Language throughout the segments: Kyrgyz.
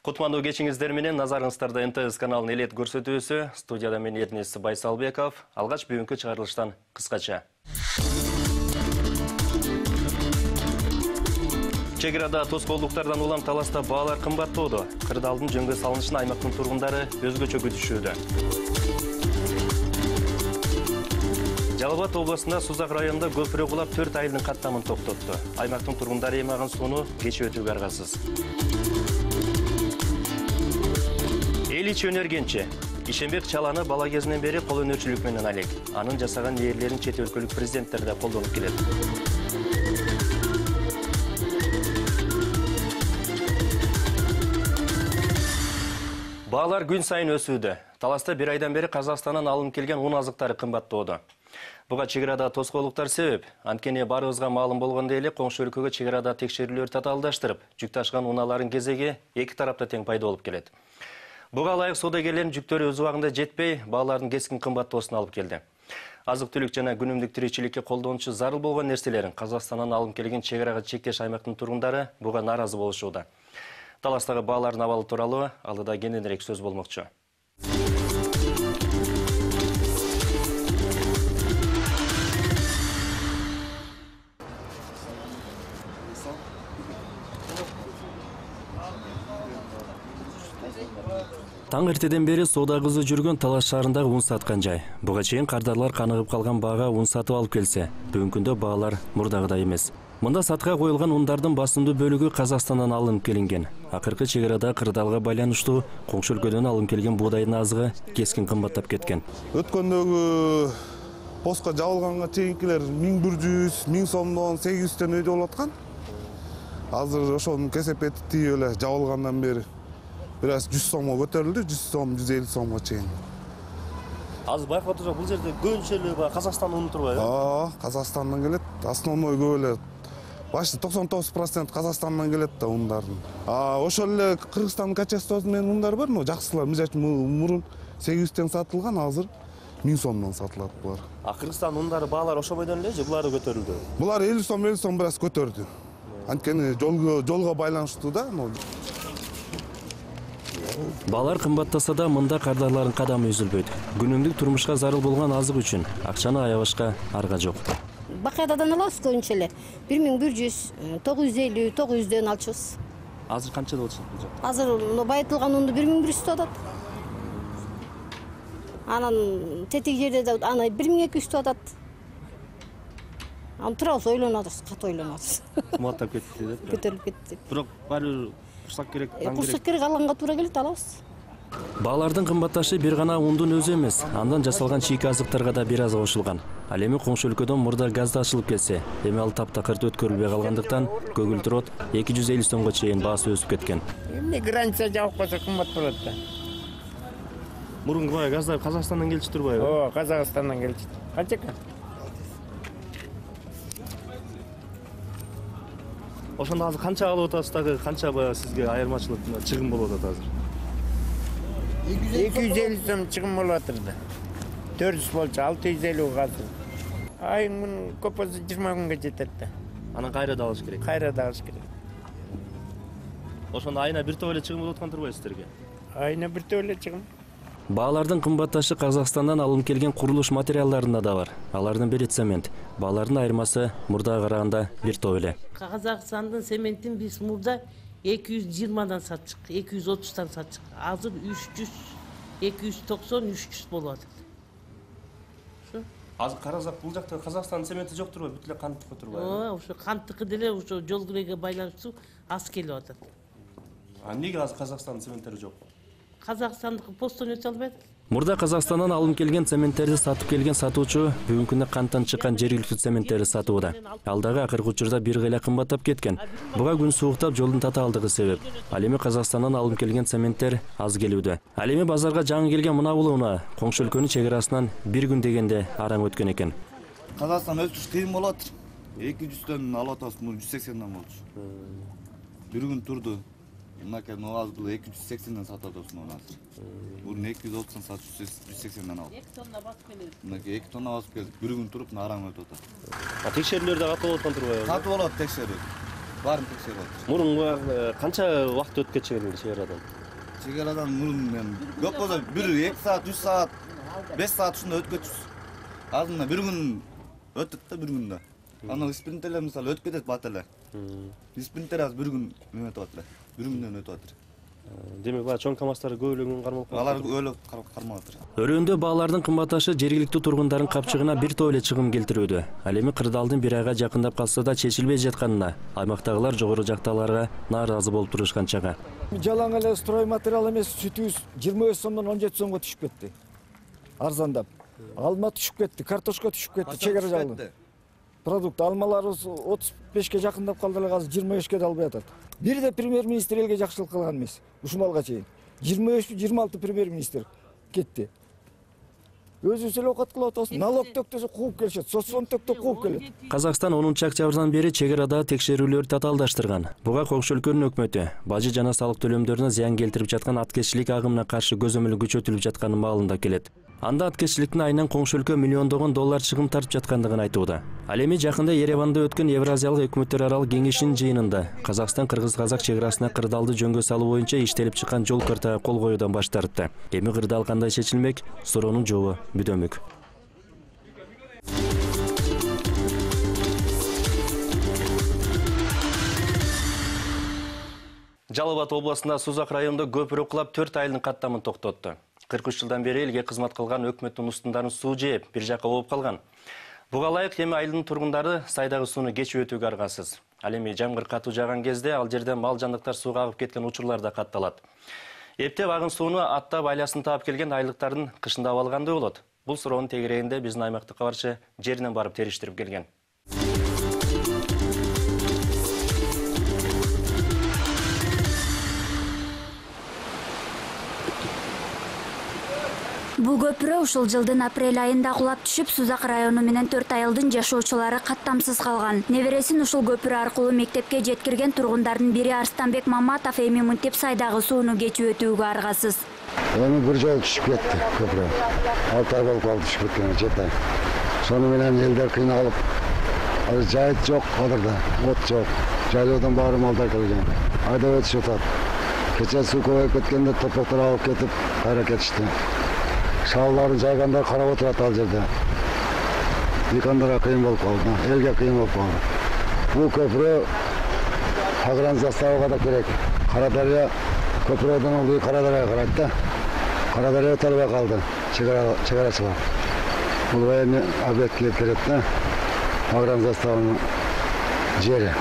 Кутмандуу кечиңиздер менен назарыңыздарда НТС каналынын элет көрсөтүүсү. Студияда мен Эрнест Байсалбеков. Алгач бүгүнкү чыгарылыштан кыскача. Чек арада тоскоолдуктардан улам таласта баалар кымбаттоодо. Кырдаалдын жөнгө салынышын аймактын тургундары өзгөчө күтүшүүдө. Жалал Абад областында Сузак районунда көпүрө кулап 4 айылдын каттамын токтотту. Аймактын тургундары эймаган сууну кечип өтүүгө аргасыз. Эл ичи өнөргенчи. Ишенбек Чаланы бала кезинен бери кол өнөрчүлүк менен алек. Анын жасаган нээрлерин чет өлкөлүк президенттер да колдонуп келет. Баалар күн сайын өсүүдө. Таласта бир айдан бери Казакстандан алынып келген ун азыктары кымбаттоодо. Буга чек арада тоскоолдуктар себеп. Анткени баарыбызга маалым болгондой эле коңшу өлкөгө чек арада текшерүүлөр татаалдаштырып, жүк ташкан унаалардын кезеги эки тарапта тең пайда болуп келет. Буга ылайык саудагерлердин жүктөрү өз убагында жетпей, баалардын кескин кымбаттоосуна алып келди. Азык-түлүк жана күнүмдүк тиричиликке колдонуучу зарыл болгон нерселерин Казакстандан алынып келген чек арага чектеш аймактын тургундары буга нааразы болушууда. Таластагы баалардын абалы тууралуу алдыда кененирээк сөз болмокчу. Таң эртеден бери соода кызы жүргөн Талас шаарындагы ун саткан жай. Буга чейин кардарлар каныгып калган баага ун сатып алып келсе, бүгүнкү күндө баалар мурдагыдай эмес. Мында сатка коюлган ундардын басымдуу бөлүгү Казакстандан алынып келинген. Акыркы чек арада кырдаалга байланыштуу коңшу өлкөдөн алынып келген буудайдын азыгы кескин кымбаттап кеткен. Өткөндөгү постко жабылганга чейинкилер 1100, 1000 сомдон 800төн өйдө болуп аткан. Азыр ошонун кесепети тийип эле жабылгандан бери бираз 100 сомго көтөрүлдү, 100 сом, 150 сомго чейин. Азыр байкап отурсак, бул жерде көбүнчө эле Казакстан уну турбайбы? Казакстандан келет. Основной көп эле. Башты 99% Казакстандан келет да ундардын. Ошол эле Кыргызстандын качествосы менен ундар бар, но жакшылар. Мисалы мурун 800тен сатылган, азыр 1000 сомдон сатылат булар. Кыргызстан ундары баалар ошо бойдон эле же булар көтөрүлдү? Булар 50 сом бираз көтөрдү. Анткени жолго байланыштуу да. Баалар кымбаттаса да мында кардарлардын кадамы үзүлбөйт. Күнүмдүк турмушка зарыл болгон азык үчүн акчаны аябашка арга жок. Бакададан алабыз көбүнчө эле. 1100, 950, 900дөн алчубыз. Азыр канчада болчу бул жакта? Азыр байытылган унду 1100 атат. Анан тетик жерде да аны 1200 атат. Аны турабыз, ойлонуп атабыз, катуу ойлонуп атабыз. Кымбаттап кетти деп. Көтөрүлүп кетти. Бирок баары курсак керек, таң керек. Курсак керек, алганга туура келет, алабыз. Баалардын кымбатташы бир гана ундун өзү эмес, андан жасалган чийки азыктарга да бир аз кошулган. Ал эми коңшу өлкөдөн мурда газ ачылып келсе, эми ал таптакырды өткөрүлбөй калгандыктан көгүлтүр от 250 сомго чейин баасы өсүп кеткен. Эмне граница жабык болсо кымбат болот да. Мурунку газдар Казакстандан келчү турбайбы? Казакстандан келчү. Канча экен? Ошондо азыр канча алып атасыз дагы, канча сизге айырмачылык чыгым болуп атат азыр? 250 сом чыгым болуп атыр да. 400 болчу, 650 азыр. Айын көп болсо 20 күнгө жетет да. Анан кайра да алыш керек. Кайра да алыш керек. Ошондо айына бир топ эле чыгым болуп аткан турбайбы сиздерге? Айына бир топ эле чыгым. Баалардын кымбатташы Казакстандан алынып келген курулуш материалдарында да бар. Алардын бири цемент. Баалардын айырмасы мурдага караганда бир топ эле. Казакстандын цементин биз мурда 220дан сатчык, 230тан сатчык. Азыр 300, 290, 300 болуп атат. Азыр карасак бул жакта Казакстандын цементи жок турбайбы? Бүт эле канттыкы турбайбы? Ошо канттыкы деле ошо жол киреге байланыштуу аз келип атат. Эмнеге азыр Казакстандын цементтери жок? Казакстандыкы постон өтө албайт. Мурда Казакстандан алынып келген цементтерди сатып келген сатуучу бүгүнкү күндө канттан чыккан жергиликтүү цементтерди сатууда. Ал дагы акыркы учурда бир гыйла кымбаттап кеткен. Буга күн сууктап жолдун татаалдыгы себеп. Ал эми Казакстандан алынып келген цементтер аз келүүдө. Ал эми базарга жаңы келген мына бул уна коңшу өлкөнүн чек арасынан бир күн дегенде араң өткөн экен. Казакстан өтүш кыйын болот. 200төн алып атабыз, 180ден болчу. Бир күн турду. Мынакей новаз был 280ден сатып атабыз муну азыр. Бурун 230тан сатып 180ден алып. 2 тонна басып келет. Мынакей 2 тонна басып келдик. Бир күн туруп араң өтүп атат. Текшерүүлөр да катуу болуп аткан турбайбы? Катуу болот текшерүү. баарын текшерип атат. Мурун канча убакыт өтүп кетчү чегaraдан? Чегaraдан мурун эми көп болсо 1-2 саат, 3 саат, 5 саат ушундай өтүп кетчүбүз. Азыр мына 1 күн өттүк да 1 күндө. Анан спринтерлер мисалы өтүп кетет бат эле. Спринтер азыр 1 күн неме өтүп атат эле. 1 күндөн өтүп атат. Демек баа чоң КамАЗдар көбөлүгүн кармалып калат. Алар өлөп кармап атат. Өрөөндө баалардын кымбатташы жергиликтүү тургундардын капчыгына бир топ эле чыгым келтирүүдө. Ал эми кырдаалдын 1 айга жакындап калса да чечилбей жатканына аймактагылар жогору жактагыларга нааразы болуп турушкан чага. Жалаң эле строй материал эмес сүтүбүз 25 сомдон 17 сомго түшүп кетти. Арзандап. Алма түшүп кетти, картошка түшүп кетти, чегара жагында. Продукт алмаларыбыз 35ке жакындап калды эле, азыр 25ке да албай атат. Бирде премьер-министр элге жакшылык кылган эмес. Ушуналга чейин 25-26 премьер-министр кетти. Өзүбүз эле окат кылып атабыз. Налог төктөсө кууп келишет, соцфонд төктөп кууп келет. Казакстан 10-октябрдан бери чегарада текшерүүлөр татаалдаштырган. Буга Коңшу өлкөнүн өкмөтү бажы жана салык төлөмдөрүнө зыян келтирип жаткан аткезчилик агымына каршы көзөмөл күчөтүлүп жатканы маалында келет. Анда аткезчиликтин айынан Коңшу өлкө миллиондогон доллар чыгым тартып жаткандыгын айтууда. Ал эми жакында Ереванда өткөн Евразиялык өкмөттөр аралык кеңешинин жыйынында Казакстан Кыргыз-Казак чегарасына кырдаалды жөнгө салуу боюнча иштелип чыккан жол картага кол коюудан баш тартты. Эми кырдаал кандай чечилмек? Суроонун жообу бүдөмүк. Жалал Абад областында Сузак районунда көпүрө кулап 4 айылдын каттамын токтотту. 43 жылдан бери элге кызмат кылган өкмөттүн устундарын суу жээп, бир жакка болуп калган. Буга ылайык эми айылдын тургундары сайдагы сууну кечип өтүүгө аргасыз. Ал эми жамгыр катуу жааган кезде ал жерден мал жандыктар сууга агып кеткен учурлар да катталат. Эптеп агын сууну аттап айласын таап келген айылдыктардын кышындап алгандай болот. Бул суроонун тегерегинде биздин аймактык кабарчы жеринен барып териштирип келген. Бул көпүрө ушул жылдын апрель айында кулап түшүп, Сузак району менен 4 айылдын жашоочулары каттамсыз калган. Небересин ушул көпүрө аркылуу мектепке жеткирген тургундардын бири Арстанбек Маматов эми мынтип сайдагы сууну кечип өтүүгө аргасыз. Эми бир жолу түшүп кетти көпүрө. 6 ай болуп калды түшүп кеткенине, 7 ай. Сону менен элдер кыйналып, азыр жайыт жок, кадырда от жок. Жайлоодан баары малдар келген. Айдап өтүшүп атат. Кече суу көбөйүп кеткенде топоктор алып кетип, кайра кетишти. Шаалларын жайгандар карап отурат ал жерде. Дыйкандарга кыйын болуп калды, элге кыйын болуп калды. Бул көпүрө Агран заставага да керек. Карадария көпүрөдөн ылдый Карадарияга карайт да. Карадария өтө албай калды, чегарачылар. Бул военный объектке кирет да. Агран заставанын жери.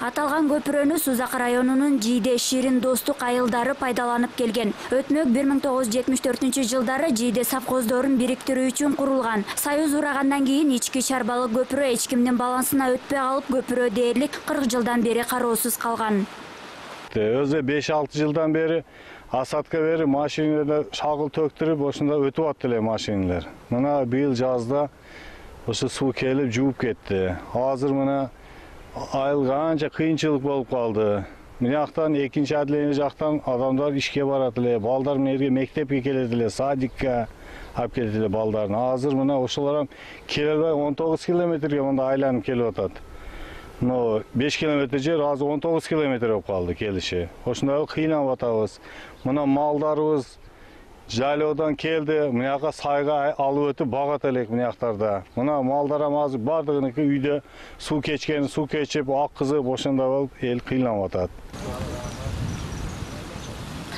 Аталган көпүрөнү Сузак районунун Жийде Ширин достук айылдары пайдаланып келген. Өтмөк 1974 жылдары Жийде совхоздорун бириктирүү үчүн курулган. Союз урагандан кийин ички чарбалык көпүрө эч кимдин балансына өтпөй калып, көпүрө дээрлик 40 жылдан бери кароосуз калган. Өзү 5-6 жылдан бери асадка бери машинада шагыл төктүрүп, ошондо өтүп атты эле машиналар. Мына быйыл жазда ошо суу келип жууп кетти. Азыр мына айылга анча кыйынчылык болуп калды. Мынактан экинчи отделение жактан адамдар ишке барат эле, балдар менен мектепке келет эле, садикке алып келет эле балдарын. Азыр мына ошолор келе албай 19 километрге мында айланып келип атат. Но 5 километр жер азыр 19 километр болуп калды келиши. Ошондой кыйналып атабыз. Мына малдарыбыз жайлоодан келди, мынакка сайга алып өтүп багат элек мынактарда. Мына малдарым азыр бардыгыныкы үйдө суу кечкен, суу кечип, аккызып, ошондой болуп эл кыйналып атат.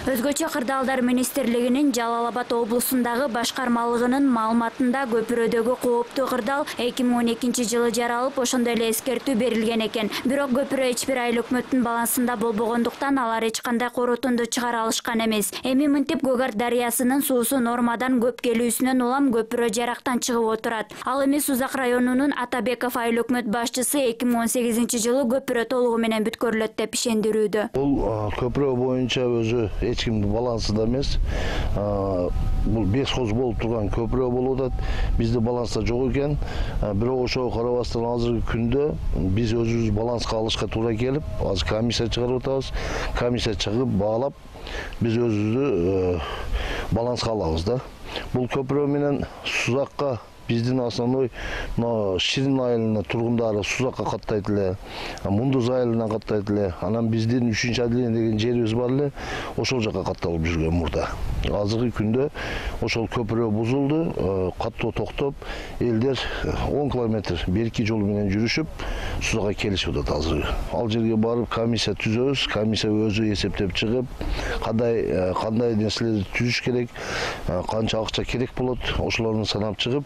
Өзгөчө Кырдаалдар министрлигинин Жалал Абад облусундагы башкармалыгынын маалыматында көпүрөдөгү кооптуу кырдаал 2012 жылы жаралып, ошондой эле эскертүү берилген экен. Бирок көпүрө эч бир айыл өкмөттүн балансында болбогондуктан алар эч кандай корутунду чыгара алышкан эмес. Эми мынтип Көгарт дарыясынын суусу нормадан көп келүүсүнөн улам көпүрө жарактан чыгып отурат. Ал эми Сузак районунун Атабеков айыл өкмөт башчысы 2018 жылы көпүрө толугу менен бүткөрүлөт деп ишендирүүдө. Бул көпүрө боюнча өзү эч кимдин балансында эмес. Бул бесхоз болуп турган көпүрө болуп атат. Бизде баланста жок экен. Бирок ошого карабастан азыркы күндө биз өзүбүз баланска алышка туура келип, азыр комиссия чыгарып атабыз. Комиссия чыгып баалап, биз өзүбүздү баланска алабыз да. Бул көпүрө менен Сузакка Биздин основной Ширин айылына тургундары Сузакка каттайт эле, Мундуз айылына каттайт эле. Анан биздин 3-чү отделение деген жерибиз бар эле, ошол жакка катталып жүргөн мурда. Азыркы күндө ошол көпүрө бузулду, каттоо токтоп, элдер 10 километр берки жол менен жүрүшүп, Сузакка келишип атат азыр. Ал жерге барып комиссия түзөбүз, комиссия өзү эсептеп чыгып, кандай нерселерди түзүш керек, канча акча керек болот, ошолорду санап чыгып,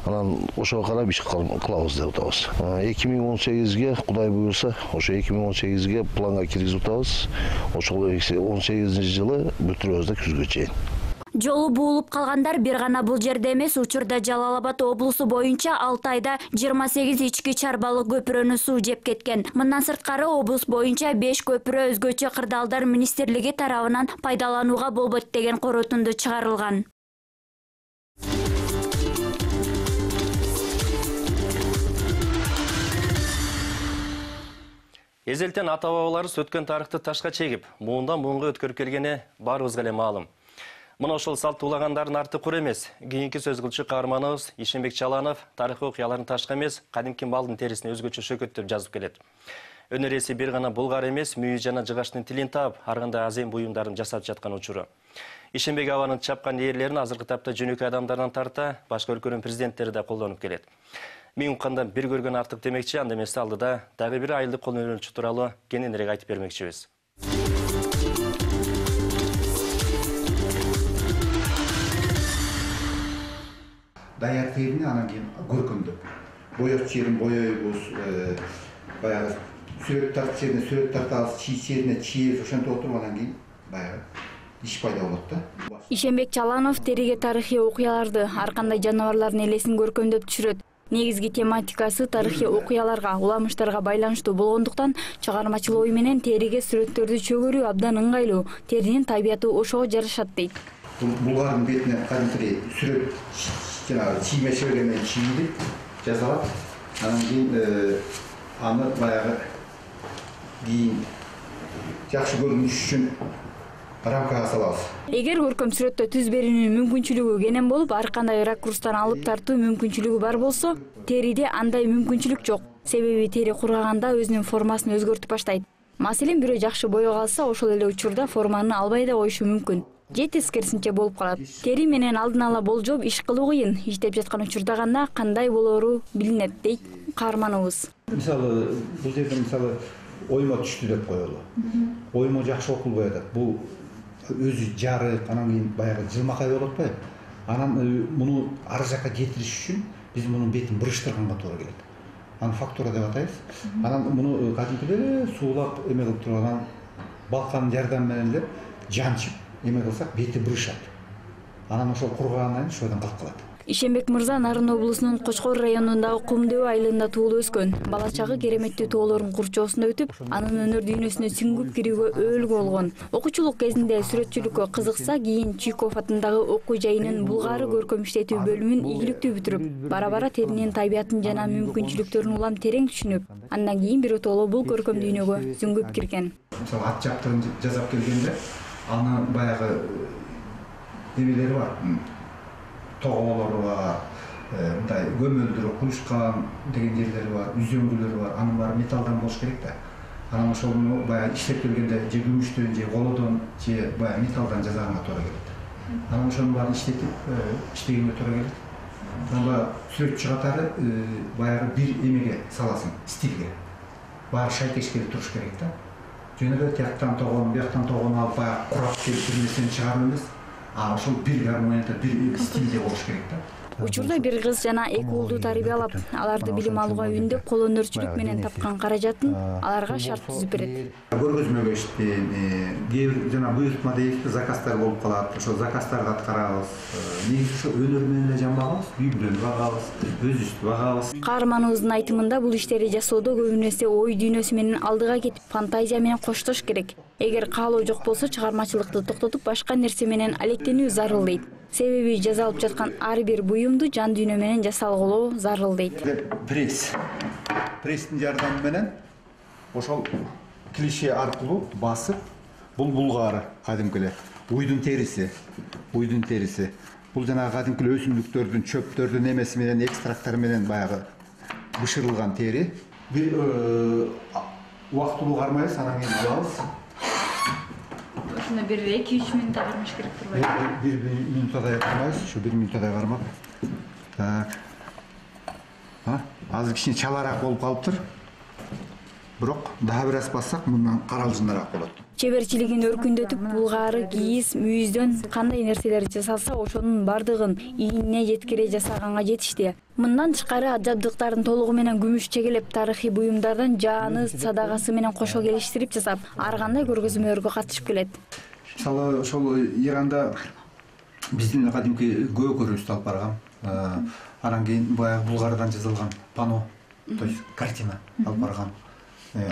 анан ошого карап иш кылабыз деп атабыз. 2018-ге Кудай буйрса, ошо 2018-ге планга киргизип атабыз. Ошол 18-жылы бүтүрөбүз да күзгө чейин. Жолу буулуп калгандар бир гана бул жерде эмес, учурда Жалал Абад облусу боюнча 6 айда 28 ички чарбалык көпүрөнү суу жеп кеткен. Мындан сырткары облус боюнча 5 көпүрө өзгөчө кырдаалдар министрлиги тарабынан пайдаланууга болбойт деген корутунду чыгарылган. Эзелтен ата-бабаларыбыз өткөн тарыхты ташка чегип, муундан муунга өткөрүп келгени баарыбызга эле маалым. Мына ошол салт улагандардын арты кур эмес. Кийинки сөз кылчу каарманыбыз Ишенбек Чаланов тарыхый окуяларын ташка эмес, кадимки малдын терисине өзгөчө шөкөттөп жазып келет. Өнөр ээси бир гана булгар эмес, мүйү жана жыгачтын тилин таап, ар кандай азем буюмдарын жасап жаткан учуру. Ишенбек абанын чапкан ээрлерин азыркы тапта жөнөкөй адамдардан тарта, башка өлкөнүн президенттери да колдонуп келет. Мен уккандан бир көргөн артык демекчи, анда эмес алдыда дагы бир айылдык кол өнөрчү тууралуу кененирээк айтып бермекчибиз. Даяр терини анан кийин көркөмдөп. Боёк жерин боёйбуз, баягы сүрөт тартып жерине сүрөт тартабыз, чийип жерине чийип, ошентип отуруп анан кийин баягы иш пайда болот да. Ишенбек Чаланов териге тарыхый окуяларды, ар кандай жаныбарлардын элесин көркөмдөп түшүрөт. Негизги тематикасы тарыхый окуяларга, уламыштарга байланыштуу болгондуктан чыгармачыл ой менен териге сүрөттөрдү чөгөрүү абдан ыңгайлуу. Теринин табияты ошого жарашат дейт. Булгардын бетине кадимки сүрөт жанагы чийме шебере менен чийилип жасалат. Анан кийин аны баягы кийин жакшы көрүнүш үчүн рамкага салабыз. Эгер көркөм сүрөттө түз берүүнүн мүмкүнчүлүгү кенен болуп, ар кандай ракурстан алып тартуу мүмкүнчүлүгү бар болсо, териде андай мүмкүнчүлүк жок. Себеби тери кургаганда өзүнүн формасын өзгөртүп баштайт. Маселен, бирөө жакшы боёк алса, ошол эле учурда форманы албай да коюшу мүмкүн. Же тескерисинче болуп калат. Тери менен алдын ала болжоп иш кылуу кыйын. Иштеп жаткан учурда гана кандай болоору билинет дейт каарманыбыз. Мисалы, бул жерде мисалы оймо түштү деп коелу. Оймо жакшы окулбай атат. Бул өзү жарык, анан кийин баягы жылмакай болуп атпайбы? Анан муну ар жакка жетириш үчүн биз мунун бетин буруштурганга туура келет. Аны фактура деп атайбыз. Анан муну кадимкилер суулап эме кылып туруп анан балканын жардамы менен эле жанчып эме кылсак бети бурушат. Анан ошол кургагандан кийин ошодон калып калат. Ишенбек мырза Нарын облусунун Кочкор районундагы Кумдөбө айылында туулуп өскөн. Бала чагы кереметтүү тоолордун курчоосунда өтүп, анын өнөр дүйнөсүнө сүңгүп кирүүгө өөлгө болгон. Окуучулук кезинде сүрөтчүлүккө кызыкса, кийин Чуйков атындагы окуу жайынын Булгаары көркөм иштетүү бөлүмүн ийгиликтүү бүтүрүп, бара-бара теринин табиятын жана мүмкүнчүлүктөрүн улам терең түшүнүп, андан кийин биротоло бул көркөм дүйнөгө сүңгүп кирген. Мисалы ат жаптырын жасап келгенде, аны баягы эмелери бар. Тоголору бар, мындай көмөлдүрүп куюшкан деген жерлери бар, үзөңгүлөрү бар. Анын баары металлдан болуш керек да. Анан ошону баягы иштеп келгенде же күмүштөн, же колодон, же баягы металлдан жасаганга туура келет. Анан ошонун баарын иштетип, иштегенге туура келет. Анан сүрөтчү катары баягы бир эмеге саласың, стилге. Баары шайкешке туруш керек да. Жөн эле тияктан тогон, бияктан тогон алып баягы курап келип бир нерсени чыгарып эмес. Ошол бир гармонияда бир стилде болуш керек да. Учурда бир кыз жана 2 уулду тарбиялап, аларды билим алууга үндөп, кол өнөрчүлүк менен тапкан каражатын аларга шарт түзүп берет. Көргөзмөгө иштейм, кээ бир жана буйртма дейбизби, заказдар болуп калат. Ошол заказдарды аткарабыз. Негизи ошо өнөр менен эле жамбагабыз, үй бүлөнү багабыз, өзүбүздү багабыз. Каарманыбыздын айтымында бул иштерди жасоодо көбүн эсе ой дүйнөсү менен алдыга кетип, фантазия менен коштош керек. Эгер каалоо жок болсо, чыгармачылыкты токтотуп, башка нерсе менен алектенүү зарыл дейт. Себеби жазалып жаткан ар бир буюмду жан дүйнө менен жасалгылоо зарыл дейт. Пресс. Пресстин жардамы менен ошол клише аркылуу басып, бул булгаары кадимки эле уйдун териси. Бул жанагы кадимкилүү өсүмдүктөрдүн чөптөрдүн эмеси менен экстракттары менен баягы бышырылган тери. Бир убактылуу кармайбыз, анан кийин алабыз. Ушуна бир 2-3 минутта кармаш керек турбайбы? Бир минутадай кармайбыз, ушу 1 минутадай кармап. Так. Азыр кичине чалараак болуп калыптыр. Бирок дагы бир аз бассак мындан каралжыңдараак болот. Чеберчилигин өркүндөтүп, булгары, кийиз, мүйүздөн кандай нерселер жасалса, ошонун бардыгын ийине жеткире жасаганга жетишти. Мындан тышкары ат жабдыктарын толугу менен күмүш чегелеп, тарыхый буюмдардан жааны, садагасы менен кошо келиштирип жасап, ар кандай көргөзмөлөргө катышып келет. Мисалы, ошол Иранда биздин кадимки көөгөрүбүздү алып баргам. Анан кийин баягы булгардан жазылган пано, то есть картина алып баргам.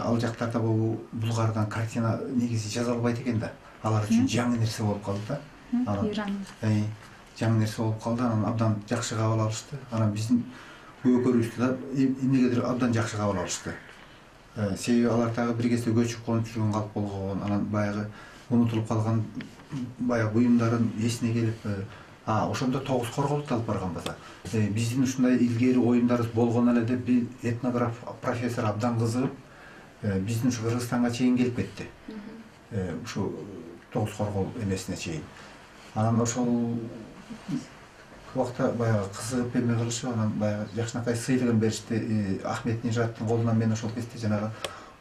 Ал жактарда бул булгардан картина негизи жаза албайт экен да. Алар үчүн жаңы нерсе болуп калды да. Жаңы нерсе болуп калды, анан абдан жакшы кабыл алышты. Анан биздин көөгөрүбүздү да эмнегедир абдан жакшы кабыл алышты. Себеби алар дагы бир кезде көчүп конуп жүргөн калп болгон, анан баягы унутулуп калган баягы буюмдарын эсине келип, ошондо 9 корголду алып барганбыз. Биздин ушундай илгери оюндарыбыз болгон эле деп бир этнограф профессор абдан кызыгып, биздин ушу Кыргызстанга чейин келип кетти. Ушу 9 коргол эмесине чейин. Анан ошол убакта баягы кызыгып эме кылышып, анан баягы жакшынакай сыйлыгын беришти. Ахмет Нижаттын колунан мен ошол кезде жанагы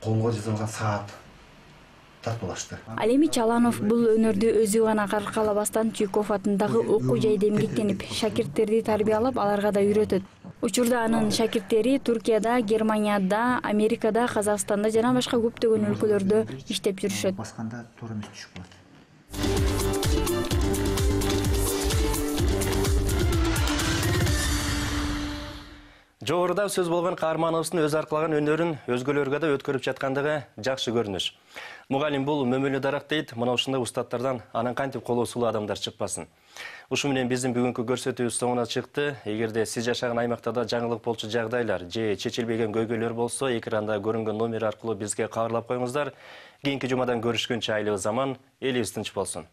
колго жазылган саат тартуулашты. Ал эми Чаланов бул өнөрдү өзү гана каркалабастан Чуйков атындагы окуу жайда эмгектенип, шакирттерди тарбиялап, аларга да үйрөтөт. Учурда анын шакирттери Туркияда, Германияда, Америкада, Казакстанда жана башка көптөгөн өлкөлөрдө иштеп жүрүшөт. Басканда туура эмес түшүп калат. Жогоруда сөз болгон каарманыбыздын өз аркалаган өнөрүн өзгөлөргө да өткөрүп жаткандыгы жакшы көрүнүш. Мугалим бул мөмөлүү дарак дейт, мына ушундай устаттардан анан кантип колу сулуу адамдар чыкпасын. Ушу менен биздин бүгүнкү көрсөтүүбүз соңуна чыкты. Эгерде сиз жашаган аймакта да жаңылык болчу жагдайлар же чечилбеген көйгөйлөр болсо, экранда көрүнгөн номер аркылуу бизге кабарлап коюңуздар. Кийинки жумадан көрүшкөнчө айлуу заман, элибиз тынч болсун.